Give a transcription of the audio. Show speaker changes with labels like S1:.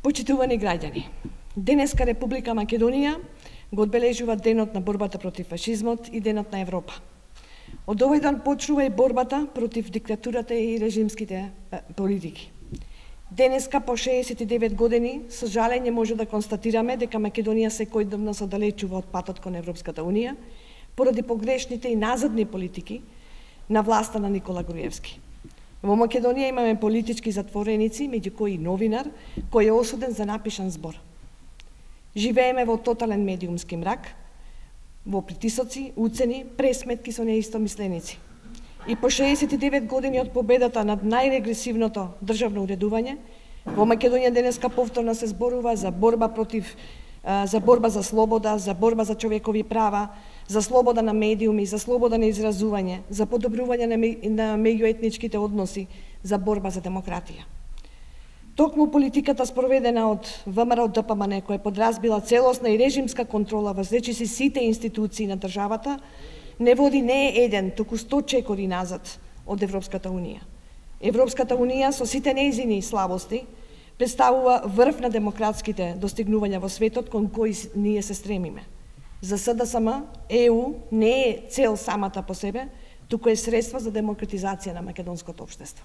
S1: Почитувани граѓани, денеска Република Македонија го одбележува денот на борбата против фашизмот и денот на Европа. Од овој дан почнува и борбата против диктатурата и режимските политики. Денеска, по 69 години, со жалење може да констатираме дека Македонија секојдневно се оддалечува од патот кон Европската Унија, поради погрешните и назадни политики на власта на Никола Груевски. Во Македонија имаме политички затвореници, меѓу кои новинар, кој е осуден за напишан збор. Живееме во тотален медиумски мрак, во притисоци, уцени, пресметки со неистомисленици. И по 69 години од победата над најрегресивното државно уредување, во Македонија денеска повторно се зборува за борба за слобода, за борба за човекови права, за слобода на медиуми, за слобода на изразување, за подобрување на меѓуетничките односи, за борба за демократија. Токму политиката спроведена од ВМРО ДПМН, која подразбила целосна и режимска контрола врз речиси сите институции на државата, не води не еден, туку 100 чекори назад од Европската Унија. Европската Унија со сите нејзини слабости представува врв на демократските достигнувања во светот кон кои ние се стремиме. За СДСМ, ЕУ не е цел самата по себе, туку е средство за демократизација на македонското општество.